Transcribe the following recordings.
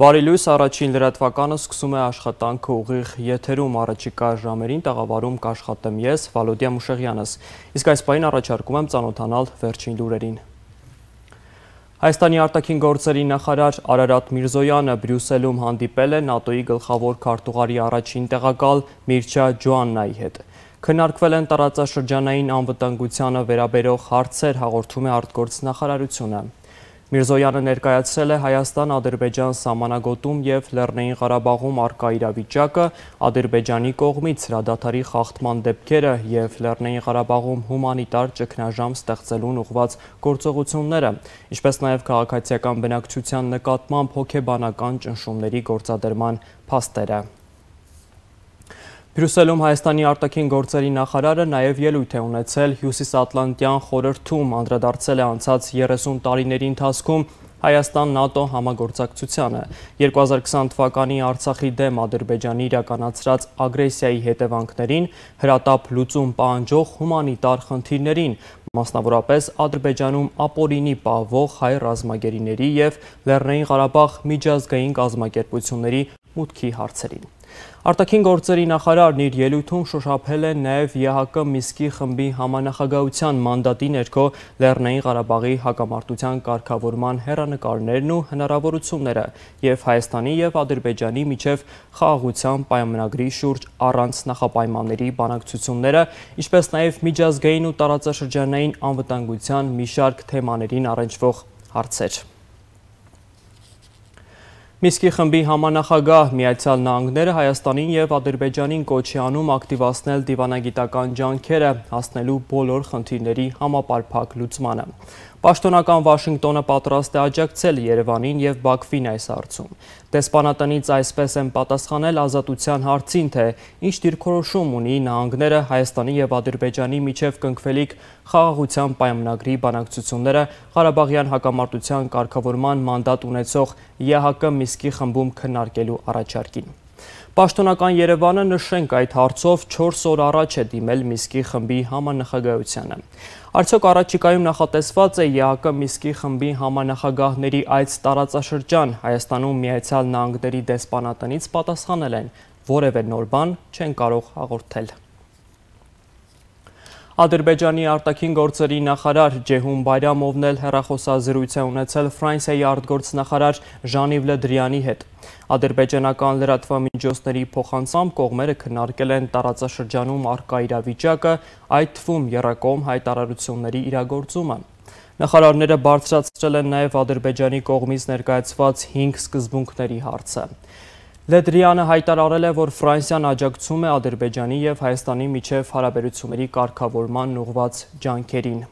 Բարի լույս, առաջին լրատվականը սկսում է աշխատանքը ուղիղ եթերում առաջիկա ժամերին տաղավարում կաշխատեմ ես, Վալոդիա Մուշեղյանս, իսկ այս պահին առաջարկում եմ ծանոթանալ վերջին լուրերին։ Հայաստանի արտաքին գործերի նախարար Արարատ Միրզոյանը Բրյուսելում հանդիպել է ՆԱՏՕ-ի գլխավոր քարտուղարի առաջին տեղակալ Միրչա Ջոաննայի հետ։ Քննարկվել են տարածաշրջանային անվտանգությանը վերաբերող հարցեր, հաղորդում է արտգործնախարարությունը։ Միրզոյանը ներկայացրել է Հայաստան-Ադրբեջան սահմանագոտում և Լեռնային Ղարաբաղում առկա իրավիճակը, Ադրբեջանի կողմից հրադադարի խախտման դեպքերը և Լեռնային Ղարաբաղում հումանիտար ճգնաժամ ստեղծելուն ուղղված գործողությունները, ինչպես նաև քաղաքացիական բնակչության նկատմամբ հոգեբանական ճնշումների գործադրման փաստերը։ Բրյուսելում Հայաստանի արտաքին գործերի նախարարը նաև ելույթ է ունեցել Հյուսիսատլանտյան խորհրդում, անդրադարձել է անցած 30 տարիների ընթացքում Հայաստան-ՆԱՏՕ համագործակցությանը, 2020 թվականի Արցախի դեմ Ադրբեջանի իրականացրած ագրեսիայի հետևանքներին, հրատապ լուծում պահանջող հումանիտար խնդիրներին, մասնավորապես Ադրբեջանում ապօրինի պահվող հայ ռազմագերիների և Լեռնային Ղարաբաղ միջազգային կազմակերպությունների մուտքի հարցերին։ Արտաքին գործերի նախարարն իր ելույթում շոշափել է նաև ԵՀԿ Միսկի խմբի համանախագահության մանդատի ներքո Լեռնային Ղարաբաղի հակամարտության կարգավորման հեռանկարներն ու հնարավորությունները և Հայաստանի և Ադրբեջանի միջև խաղաղության պայմանագրի շուրջ առանց նախապայմանների բանակցությունները, ինչպես նաև միջազգային ու տարածաշրջանային անվտանգության մի շարք թեմաներին առնչվող հարցեր։ Միսկի խմբի համանախագահ Միացյալ Նահանգները Հայաստանին և Ադրբեջանին կոչ է անում ակտիվացնել դիվանագիտական ջանքերը, հասնելու բոլոր խնդիրների համապարփակ լուծմանը։ Պաշտոնական Վաշինգտոնը պատրաստ է աջակցել Երևանին և Բաքվին այս հարցում։ Դեսպանատնից այսպես են պատասխանել ազատության հարցին, թե ինչ դիրքորոշում ունի նահանգները Հայաստանի և Ադրբեջանի միջև կնքվելիք խաղաղության պայմանագրի բանակցությունները Ղարաբաղյան հակամարտության կարգավորման մանդատ ունեցող ԵՀԿ Միսկի խմբում քննարկելու առաջարկին։ Պաշտոնական Երևանը, նշենք, այդ հարցով 4 օր առաջ է դիմել Միսկի խմբի համանախագահությանը։ Արդյոք առաջիկայում նախատեսված է ԵՀԿ Միսկի խմբի համանախագահների այց տարածաշրջան, Հայաստանում Միացյալ Նահանգների դեսպանատնից պատասխանել են, որևէ նոր բան չեն կարող հաղորդել։ Ադրբեջանի արտաքին գործերի նախարար Ջեհուն Բայրամովն էլ հեռախոսազրույց է ունեցել Ֆրանսիայի արտգործնախարար Ժան-Իվ Լը Դրյանի հետ։ Ադրբեջանական լրատվամիջոցների փոխանցմամբ կողմերը քննարկել են տարածաշրջանում առկա իրավիճակը, այդ թվում եռակողմ հայտարարությունների իրագործումը։ Նախարարները բարձրացրել են նաև Ադրբեջանի կողմից ներկայացված 5 սկզբունքների հարցը։ Լը Դրյանը հայտարարել է, որ Ֆրանսիան աջակցում է Ադրբեջանի և Հայաստանի միջև հարաբերությունների կարգավորման ուղղված ջանքերին։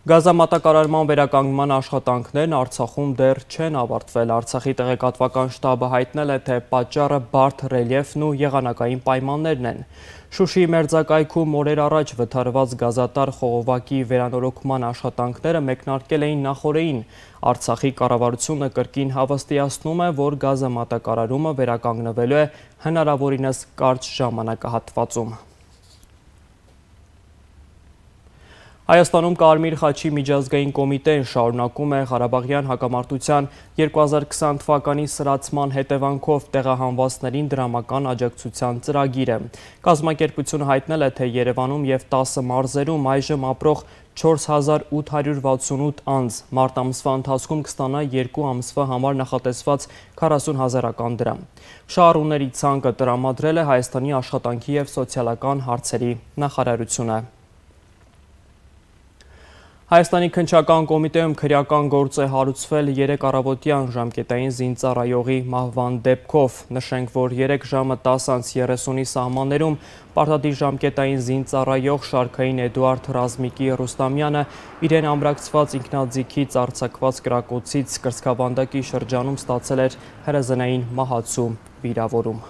Գազամատակարարման վերականգնման աշխատանքներն Արցախում դեռ չեն ավարտվել։ Արցախի տեղեկատվական շտաբը հայտնել է, թե պատճառը բարդ ռելիեֆն ու եղանակային պայմաններն են։ Շուշիի մերձակայքում օրեր առաջ վթարված գազատար խողովակի վերանորոգման աշխատանքները մեկնարկել էին նախօրեին։ Արցախի կառավարությունը կրկին հավաստիացնում է, որ գազամատակարարումը վերականգնվելու է հնարավորինս կարճ ժամանակահատվածում։ Հայաստանում Կարմիր խաչի միջազգային կոմիտեն շարունակում է Ղարաբաղյան հակամարտության 2020 թվականի սրացման հետևանքով տեղահանվածներին դրամական աջակցության ծրագիրը։ Կազմակերպությունը հայտնել է, թե Երևանում և 10 մարզերում այժմ ապրող 4868 անձ մարտ ամսվա ընթացքում կստանա 2 ամսվա համար նախատեսված 40,000 դրամ։ Շահառուների ցանկը տրամադրել է Հայաստանի աշխատանքի և սոցիալական հարցերի նախարարությունը։ Հայաստանի քննչական կոմիտեում քրեական գործ է հարուցվել 3 առավոտյան ժամկետային զինծառայողի մահվան դեպքով։ Նշենք, որ 3 ժամը 10:30-ի սահմաններում պարտադիր ժամկետային զինծառայող շարքային Էդուարդ Ռազմիկի Ռուստամյանը իրեն ամրացված ինքնաձիգից արձակված կրակոցից կրծքավանդակի շրջանում ստացել էր հրազենային մահացու վիրավորում։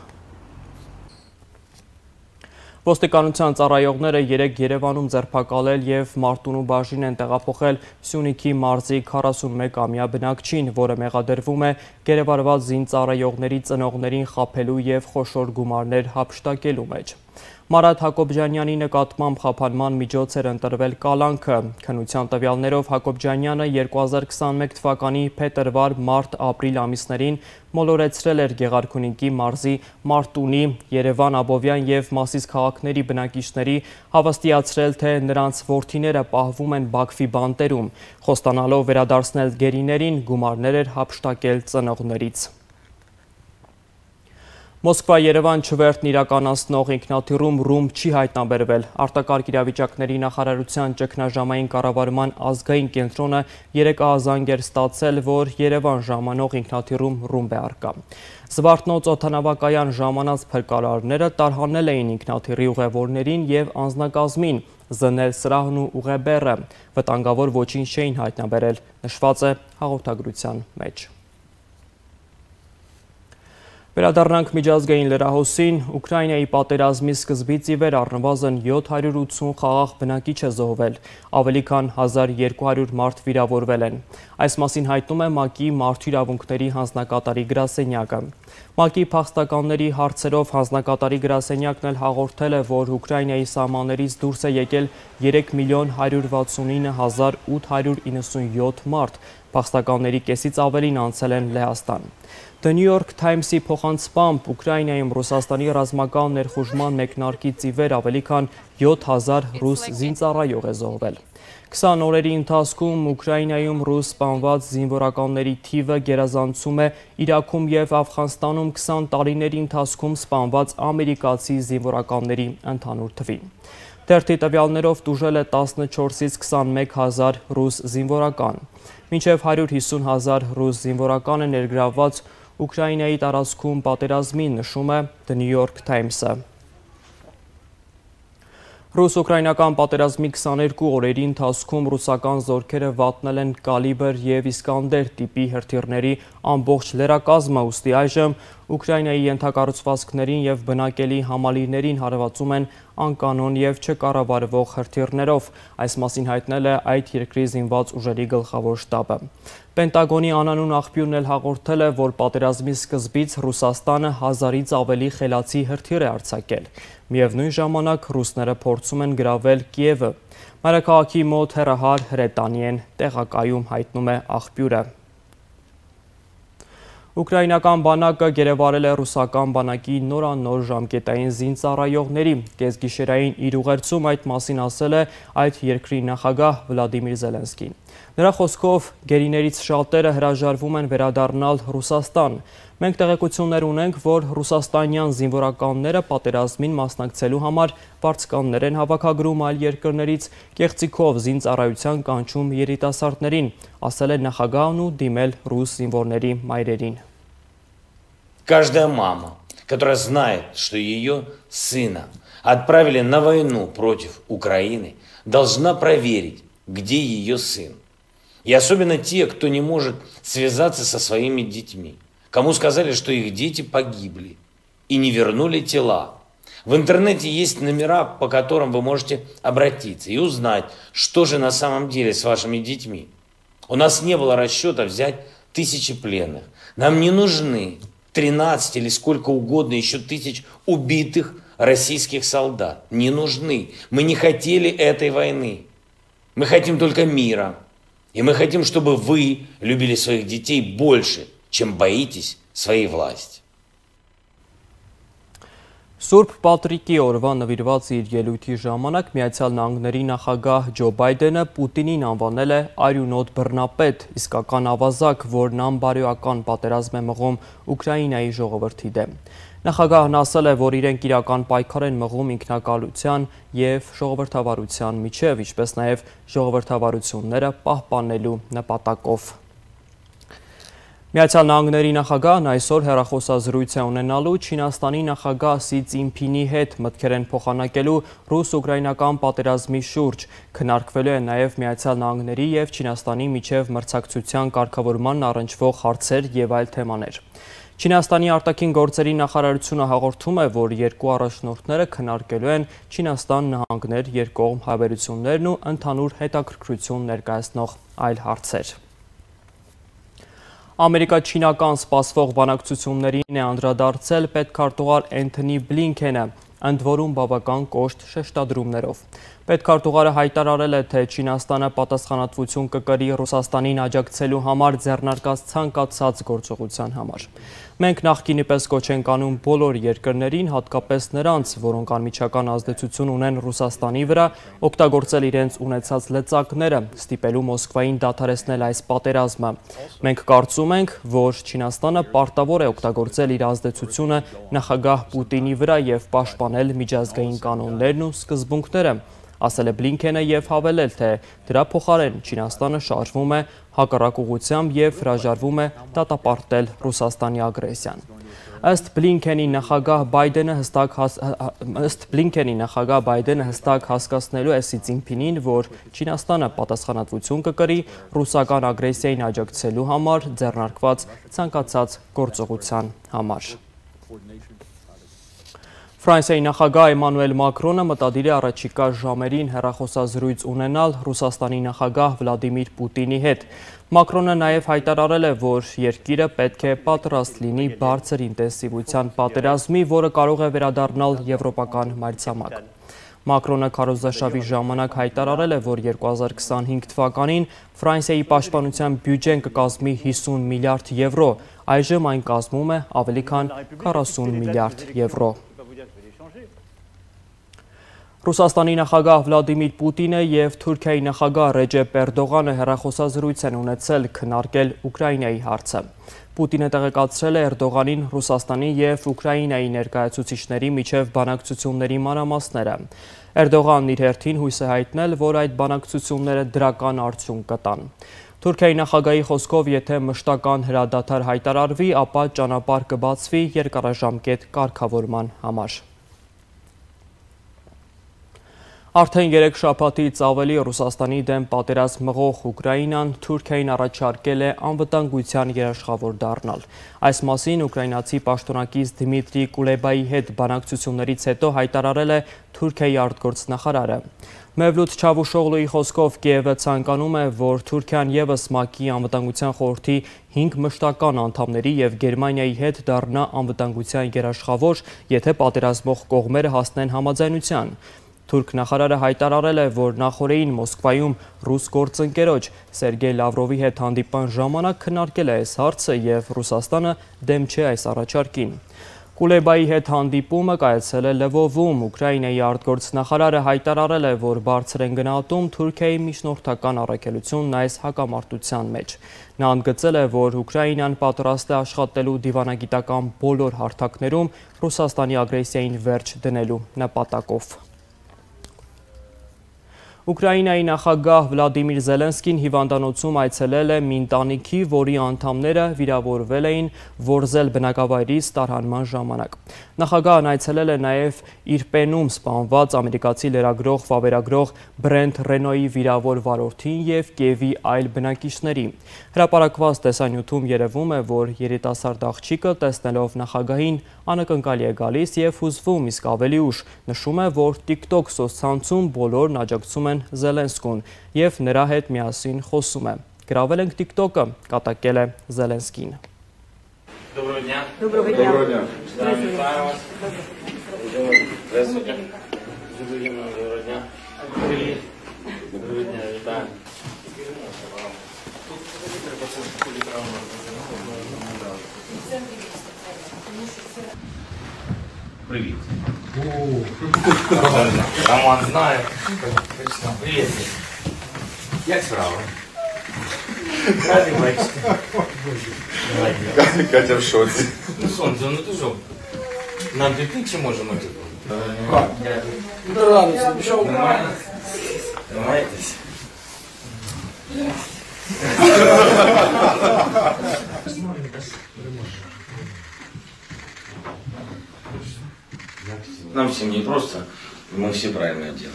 Ոստիկանության ծառայողները 3 Երևանում ձերբակալել և Մարտունու բաժին են տեղափոխել Սյունիքի մարզի 41-ամյա բնակչին, որը մեղադրվում է գերեվարված զինծառայողների ծնողներին խաբելու և խոշոր գումարներ հափշտակելու մեջ։ Մարատ Հակոբյանյանի նկատմամբ խափանման միջոց էր ընտրվել կալանքը։ Քննության տվյալներով Հակոբյանը 2021 թվականի փետրվար-մարտ-ապրիլ ամիսներին մոլորեցրել էր Գեղարքունիքի մարզի Մարտունի, Երևան, Աբովյան և Մասիս քաղաքների բնակիչների, հավաստիացրել, թե նրանց որդիները պահվում են Բաքվի բանտերում, խոստանալով վերադարձնել գերիներին, գումարներ էր հափշտակել ծնողներից։ Մոսկվա-Երևան չվերթն իրականացնող ինքնաթիռում ռումբ չի հայտնաբերվել։ Արտակարգ իրավիճակների նախարարության ճգնաժամային կառավարման ազգային կենտրոնը երեկահազանգ էր ստացել, որ Երևան ժամանող ինքնաթիռում ռումբ է առկա։ Զվարթնոց օդանավակայան ժամանած փրկարարները տարհանել էին ինքնաթիռի ուղևորներին և անձնակազմին, զննել սրահն ու ուղեբեռը։ Վտանգավոր ոչինչ չէին հայտնաբերել, նշված է հաղորդագրության մեջ։ Վերադառնանք միջազգային լրահոսին, Ուկրաինայի պատերազմի սկզբից ի վեր առնվազն 780 խաղաղ բնակիչ է զոհվել, ավելի քան 1200 մարդ վիրավորվել են։ Այս մասին հայտնում է ՄԱԿ-ի Մարդու իրավունքների հանձնակատարի գրասենյակը։ ՄԱԿ-ի փախստականների հարցերով հանձնակատարի գրասենյակն էլ հաղորդել է, որ Ուկրաինայի սահմաններից դուրս է եկել 3.169.897 մարդ, փախստականների կեսից ավելին անցել են Լեհաստան։ The New York Times-ի փոխանցմամբ Ուկրաինայում Ռուսաստանի ռազմական ներխուժման մեկնարկից ի վեր ավելի քան 7000 ռուս զինծառայող է զոհվել։ 20 օրերի ընթացքում Ուկրաինայում ռուս սպանված զինվորականների թիվը գերազանցում է Իրաքում և Աֆղանստանում 20 տարիների ընթացքում սպանված ամերիկացի զինվորականների ընդհանուր թվին։ Թերթի տվյալներով տուժել է 14-ից 21 հազար ռուս զինվորական։ Մինչև 150 հազար ռուս զինվորական է ներգրավված Ուկրաինայի տարածքում պատերազմին, նշում է The New York Times-ը։ Ռուս-ուկրաինական պատերազմի 22 օրերի ընթացքում ռուսական զորքերը վատնել են կալիբր և Իսկանդեր տիպի հրթիռների ամբողջ լեռակազմը, ուստի այժմ Ուկրաինայի ենթակառուցվածքներին և բնակելի համալիրներին հարվածում են անկանոն և չկառավարվող հրթիռներով, այս մասին հայտնել է այդ երկրի զինված ուժերի գլխավոր շտաբը։ Պենտագոնի անանուն աղբյուրն էլ հաղորդել է, որ պատերազմի սկզբից Ռուսաստանը 1000-ից ավելի խելացի հրթիռ է արձակել։ Միևնույն ժամանակ ռուսները փորձում են գրավել Կիևը։ Մայրաքաղաքի մոտ հեռահար հրետանի են տեղակայում, հայտնում է աղբյուրը։ Ուկրաինական բանակը գերեվարել է ռուսական բանակի նորանոր ժամկետային զինծառայողների։ Կեսգիշերային իր ուղերձում այդ մասին ասել է այդ երկրի նախագահ Վլադիմիր Զելենսկին։ Նրա խոսքով գերիներից շատերը հրաժարվում են վերադառնալ Ռուսաստան։ Մենք տեղեկություններ ունենք, որ ռուսաստանյան զինվորականները պատերազմին մասնակցելու համար վարձկաններ են հավաքագրում այլ երկրներից, կեղծիքով զինծառայության կանչում երիտասարդներին, ասել է նախագահն ու դիմել ռուս զինվորների մայրերին։ Каждая мама, которая знает, что ее сына отправили на войну против Украины, должна проверить, где ее сын. И особенно те, кто не может связаться со своими детьми, кому сказали, что их дети погибли и не вернули тела. В интернете есть номера, по которым вы можете обратиться и узнать, что же на самом деле с вашими детьми. У нас не было расчета взять 1000 пленных. Нам не нужны 13 или сколько угодно еще тысяч убитых российских солдат. Не нужны. Мы не хотели этой войны. Мы хотим только мира. И мы хотим, чтобы вы любили своих детей больше, чем боитесь своей власти. Սուրբ Պատրիկի օրվա նվիրված իր ելույթի ժամանակ Միացյալ Նահանգների նախագահ Ջո Բայդենը Պուտինին անվանել է արյունոտ բռնապետ, իսկական ավազակ, որն անբարոյական պատերազմ է մղում Ուկրաինայի ժողովրդի դեմ։ Նախագահն ասել է, որ իրենք իրական պայքար են մղում ինքնակալության և ժողովրդավարության միջև, ինչպես նաև ժողովրդավարությունները պահպանելու նպատակով։ Միացյալ Նահանգների նախագահն այսօր հեռախոսազրույց է ունենալու Չինաստանի նախագահ Սի Ցինփինի հետ մտքեր են փոխանակելու ռուս-ուկրաինական պատերազմի շուրջ, քննարկվելու է նաև Միացյալ Նահանգների և Չինաստանի միջև մրցակցության կարգավորմանն առնչվող հարցեր և այլ թեմաներ։ Չինաստանի արտաքին գործերի նախարարությունը հաղորդում է, որ երկու առաջնորդները քննարկելու են Չինաստան-Նահանգներ երկկողմ հարաբերություններն ու ընդհանուր հետաքրքրություն ներկայացնող այլ հարցեր։ Ամերիկա-չինական սպասվող բանակցություններին է անդրադարձել պետքարտուղար Էնթոնի Բլինքենը։ ընդ որում բավական կոշտ շեշտադրումներով։ Պետքարտուղարը հայտարարել է, թե Չինաստանը պատասխանատվություն կկրի Ռուսաստանին աջակցելու համար ձեռնարկած ցանկացած գործողության համար։ Մենք նախկինի պես կոչ ենք անում բոլոր երկրներին, հատկապես նրանց, որոնք անմիջական ազդեցություն ունեն Ռուսաստանի վրա, օգտագործել իրենց ունեցած լծակները, ստիպելու Մոսկվային դադարեցնել այս պատերազմը։ Մենք կարծում ենք, որ Չինաստանը պարտավոր է օգտագործել իր ազդեցությունը նախագահ Պուտինի վրա եւ պաշտպանել միջազգային կանոններն ու սկզբունքները, ասել է Բլինքենը եւ հավելել, թե դրա փոխարեն Չինաստանը շարժվում է հակառակ ուղղությամբ եւ հրաժարվում է դատապարտել Ռուսաստանի ագրեսիան։ Ըստ Բլինքենի նախագահ Բայդենը հստակ հասկացնելու է Սի Ցզինփինին, որ Չինաստանը պատասխանատվություն կկրի ռուսական ագրեսիային աջակցելու համար ձեռնարկված ցանկացած գործողության համար։ Ֆրանսիայի նախագահ Էմանուել Մակրոնը մտադիր է առաջիկա ժամերին հեռախոսազրույց ունենալ Ռուսաստանի նախագահ Վլադիմիր Պուտինի հետ։ Մակրոնը նաև հայտարարել է, որ երկիրը պետք է պատրաստ լինի բարձր ինտենսիվության պատերազմի, որը կարող է վերադառնալ եվրոպական մայրցամաք։ Մակրոնը քարոզարշավի ժամանակ հայտարարել է, որ 2025 թվականին Ֆրանսիայի պաշտպանության բյուջեն կկազմի 50 միլիարդ եվրո, այժմ այն կազմում է ավելի քան 40 միլիարդ եվրո։ Ռուսաստանի նախագահ Վլադիմիր Պուտինը եւ Թուրքիայի նախագահ Ռեջեփ Էրդողանը հեռախոսազրույց են ունեցել քննարկել Ուկրաինայի հարցը։ Պուտինը տեղեկացրել է Էրդողանին Ռուսաստանի եւ Ուկրաինայի ներկայացուցիչների միջև բանակցությունների մանրամասները։ Էրդողանն իր հերթին հույս է հայտնել, որ այդ բանակցությունները դրական արդյունք կտան։ Թուրքիայի նախագահի խոսքով, եթե մշտական հրադադար հայտարարվի, ապա ճանապարհ կբացվի երկարաժամկետ կարգավորման համար։ Արդեն 3 շաբաթից ավելի Ռուսաստանի դեմ պատերազմ մղող Ուկրաինան Թուրքիային առաջարկել է անվտանգության երաշխավոր դառնալ։ Այս մասին ուկրաինացի պաշտոնակից Դմիտրի Կուլեբայի հետ բանակցություններից հետո հայտարարել է Թուրքիայի արտգործնախարարը։ Մևլութ Չավուշօղլուի խոսքով Կիևը ցանկանում է, որ Թուրքիան ևս ՄԱԿ-ի անվտանգության խորհրդի 5 մշտական անդամների եւ Գերմանիայի հետ դառնա անվտանգության երաշխավոր, եթե պատերազմող կողմերը հասնեն համաձայնության։ Թուրք նախարարը հայտարարել է, որ նախորդին Մոսկվայում ռուս գործընկերոջ Սերգեյ Լավրովի հետ հանդիպման ժամանակ քննարկել է այս հարցը եւ Ռուսաստանը դեմ չէ այս առաջարկին։ Կուլեբայի հետ հանդիպումը կայացել է Լվովում, Ուկրաինայի արտգործնախարարը հայտարարել է, որ բարձր են գնահատում Թուրքիայի միջնորդական առաքելությունն այս հակամարտության մեջ։ Նա ընդգծել է, որ Ուկրաինան պատրաստ է աշխատելու դիվանագիտական բոլոր հարթակներում Ռուսաստանի ագրեսիային վերջ դնելու նպատակով։ Ուկրաինայի նախագահ Վլադիմիր Զելենսկին հիվանդանոցում այցելել է մի ընտանիքի, որի անդամները վիրավորվել էին Որզել բնակավայրից տարհանման ժամանակ։ Նախագահն այցելել է նաև Իրպենում սպանված ամերիկացի լրագրող, վավերագրող Բրենթ Ռենոյի վիրավոր վարորդին եւ Կիևի այլ բնակիչների։ Հրապարակված տեսանյութում երևում է, որ երիտասարդ աղջիկը տեսնելով նախագահին անակնկալի է գալիս եւ հուզվում, իսկ ավելի ուշ նշում է, որ TikTok սոցցանցում բոլորն աջակցում են Զելենսկուն եւ նրա հետ միասին խոսում է։ Գրավել ենք TikTok-ը, катակել է Զելենսկին։ Доброго дня. Доброго дня. Доброго дня. Вітаю вас. Здравствуйте. Доброго дня. Привіт. Доброго дня, вітаю. Привіт. Роман знає. Привіт. Як справа? Раді бачити. Катя в шоці. Ну, сонце, ну ти що? Нам піти чи можемо піти? Да ладно, я пішов. Нормально? Тримаєтесь? Нам всем не просто, мы все правильно делаем.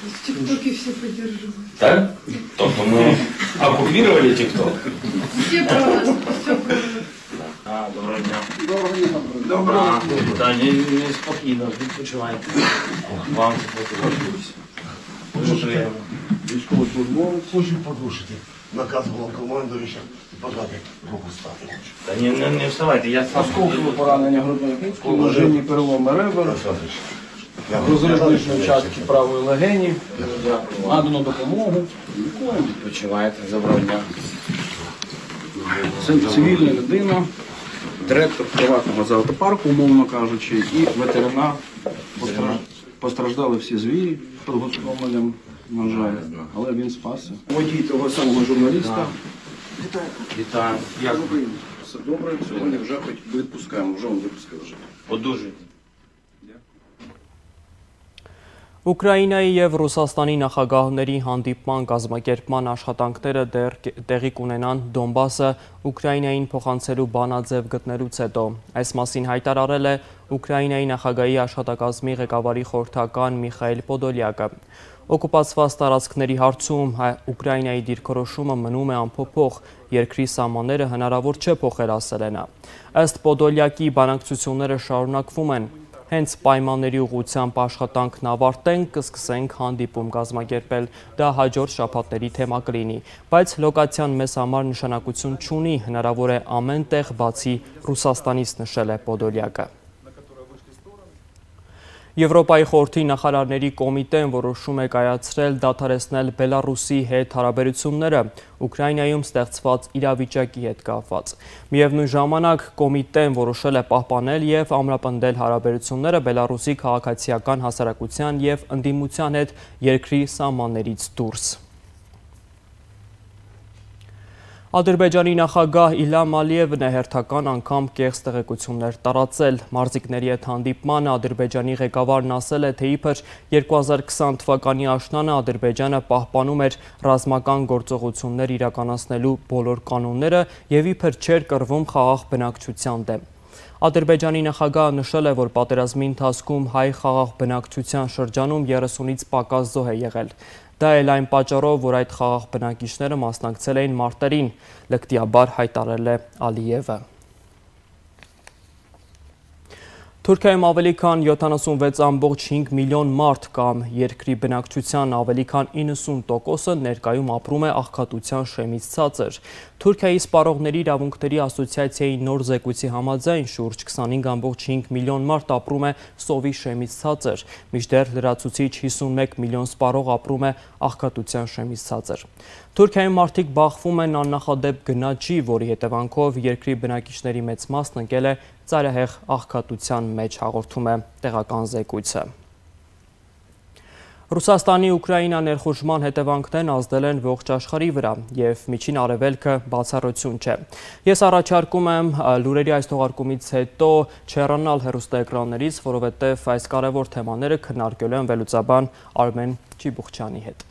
В ТикТоке все поддерживают. Так? Только мы оккупировали ТикТок. Все про вас, все про вас. Доброго дня. Доброго Да, не спокійно, відпочивайте. Вам сподобалось. Дуже приємно. Військовослужбовець. Хочу порушити наказ головнокомандуюча Пока руку ставь лучше. Да не вставайте, я сам. Осколкове поранення грудної клітки, множинні переломи ребер, розрив участки правої легені, надано допомогу, лікуємо. Відпочивайте, доброго дня. Це цивільна людина, директор приватного зоопарку, умовно кажучи, і ветеринар. Постраждали всі звірі під гостромелем, на жаль, але він спасся. Водій того самого журналіста. Вітаю. Як ви? Все добре, сьогодні вже хоч відпускаємо, вже він випускає вже. Одужуйте. Ուկրաինայի և Ռուսաստանի նախագահների հանդիպման կազմակերպման աշխատանքները դեռ տեղի կունենան Դոնբասը Ուկրաինային փոխանցելու բանաձև գտնելուց հետո։ Այս մասին հայտարարել է Ուկրաինայի նախագահի աշխատակազմի ղեկավարի խորհրդական Միխայիլ Պոդոլյակը։ Օկուպացված տարածքների հարցում Ուկրաինայի դիրքորոշումը մնում է անփոփոխ, երկրի սահմանները հնարավոր չէ փոխել, ասել է նա։ Ըստ Պոդոլյակի բանակցությունները շարունակվում են։ Հենց պայմանների ուղղությամբ աշխատանքն ավարտենք, կսկսենք հանդիպում կազմակերպել, դա հաջորդ շաբաթների թեմա կլինի, բայց լոկացիան մեզ համար նշանակություն չունի, հնարավոր է ամեն տեղ բացի Ռուսաստանից, նշել է Պոդոլյակը։ Եվրոպայի խորհրդի նախարարների կոմիտեն որոշում է կայացրել դադարեցնել Բելարուսի հետ հարաբերությունները Ուկրաինայում ստեղծված իրավիճակի հետ կապված։ Միևնույն ժամանակ կոմիտեն որոշել է պահպանել և ամրապնդել հարաբերությունները Բելարուսի քաղաքացիական հասարակության և ընդդիմության հետ երկրի սահմաններից դուրս։ Ադրբեջանի նախագահ Իլհամ Ալիևն է հերթական անգամ կեղծ տեղեկություններ տարածել։ Մարզիկների հետ հանդիպմանը Ադրբեջանի ղեկավարն ասել է, թե իբր 2020 թվականի աշնանը Ադրբեջանը պահպանում էր ռազմական գործողություններ իրականացնելու բոլոր կանոնները և իբր չէր կռվում խաղաղ բնակչության դեմ։ Ադրբեջանի նախագահը նշել է, որ պատերազմի ընթացքում հայ խաղաղ բնակչության շրջանում 30-ից պակաս զոհ է եղել։ Դա էլ այն պատճառով, որ այդ խաղաղ բնակիչները մասնակցել էին մարտերին, լկտիաբար հայտարարել է Ալիևը։ Թուրքիայում ավելի քան 76.5 միլիոն մարդ կամ երկրի բնակչության ավելի քան 90%-ը ներկայում ապրում է աղքատության շեմից ցածր։ Թուրքիայի սպառողների իրավունքների ասոցիացիայի նոր զեկույցի համաձայն շուրջ 25.5 միլիոն մարդ ապրում է սովի շեմից ցածր, մինչդեռ լրացուցիչ 51 միլիոն սպառող ապրում է աղքատության շեմից ցածր։ Թուրքիայում մարդիկ բախվում են աննախադեպ գնաճի, որի հետևանքով երկրի բնակիչների մեծ մասն ընկել է ծայրահեղ աղքատության մեջ, հաղորդում է տեղական զեկույցը։ Ռուսաստանի Ուկրաինա ներխուժման հետևանքներն ազդել են ողջ աշխարհի վրա և Միջին Արևելքը բացառություն չէ։ Ես առաջարկում եմ լուրերի այս թողարկումից հետո չհեռանալ հեռուստաէկրաններից, որովհետև այս կարևոր թեմաները քննարկելու են վերլուծաբան Արմեն Չիբուխչյանի հետ։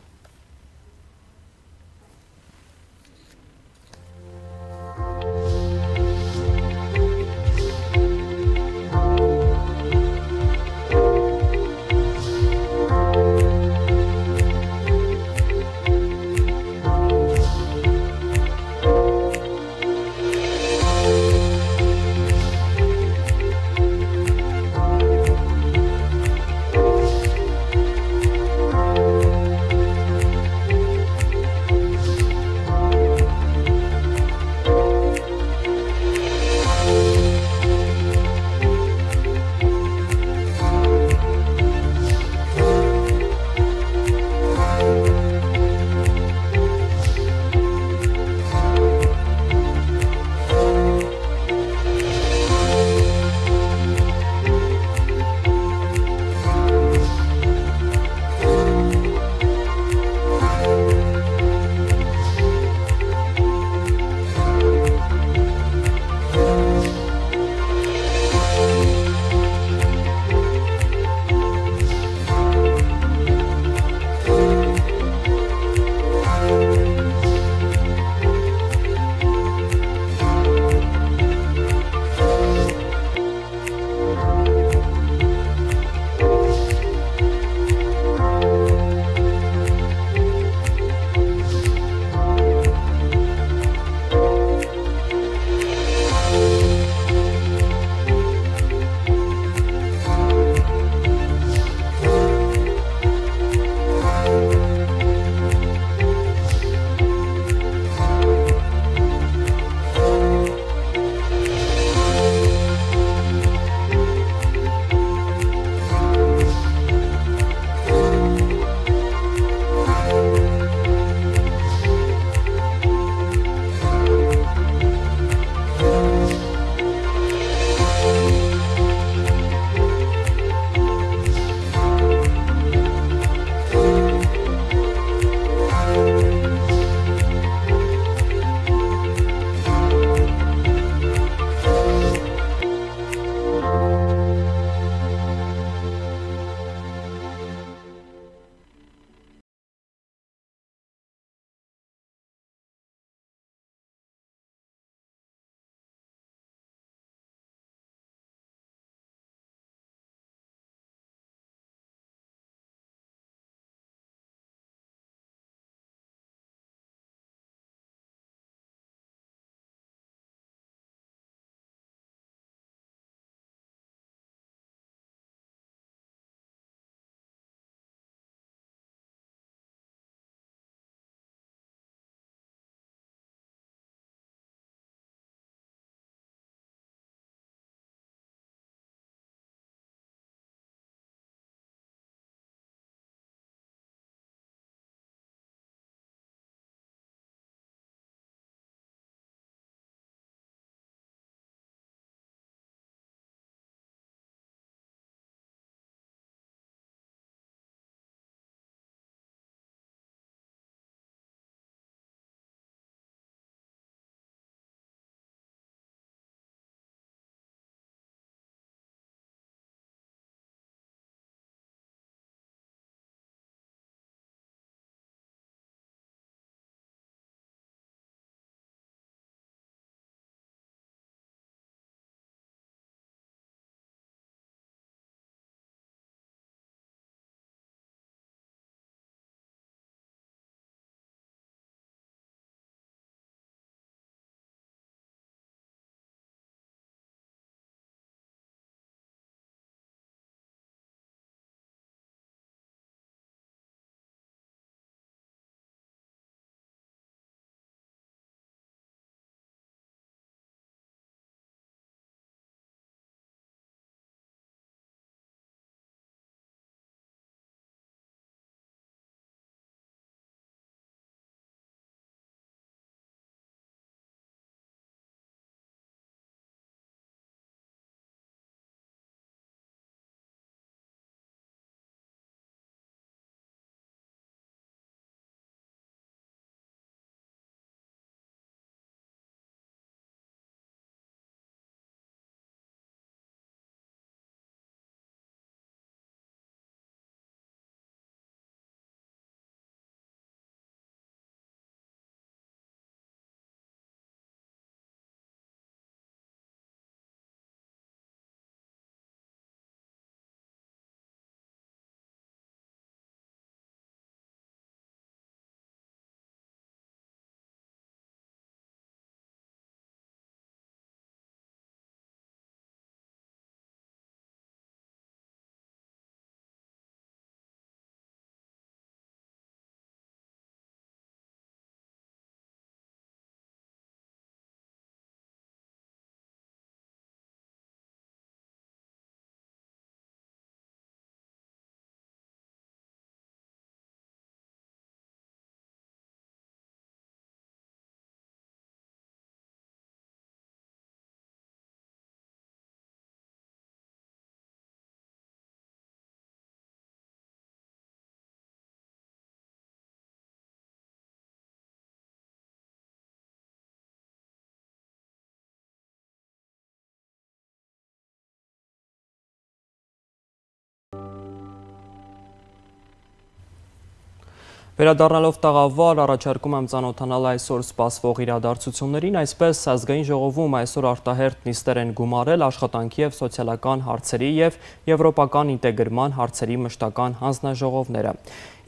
Վերադառնալով տաղավար, առաջարկում եմ ծանոթանալ այսօր սպասվող իրադարձություններին, այսպես ազգային ժողովում այսօր արտահերթ նիստեր են գումարել աշխատանքի և սոցիալական հարցերի և եվրոպական ինտեգրման հարցերի մշտական հանձնաժողովները։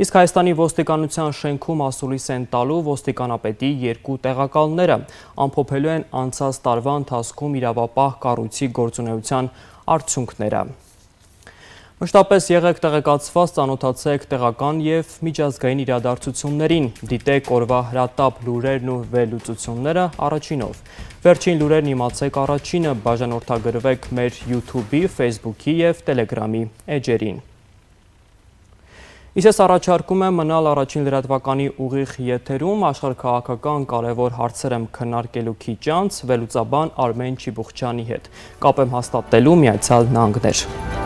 Իսկ Հայաստանի ոստիկանության շենքում ասուլիս են տալու ոստիկանապետի 2 տեղակալները, ամփոփելու են անցած տարվա ընթացքում իրավապահ կառույցի գործունեության արդյունքները։ Մշտապես եղեք տեղեկացված, ծանոթացեք տեղական և միջազգային իրադարձություններին, դիտեք օրվա հրատապ լուրերն ու վերլուծությունները առաջինով։ Վերջին լուրերն իմացեք առաջինը, բաժանորդագրվեք մեր YouTube-ի, Facebook-ի և Telegram-ի էջերին։ Իսկ ես առաջարկում եմ մնալ առաջին լրատվականի ուղիղ եթերում, աշխարհաքաղաքական կարևոր հարցեր եմ քննարկելու քիչ անց, վերլուծաբան Արմեն Չիբուխչյանի հետ։ Կապ եմ հաստատելու Միացյալ Նահանգներ։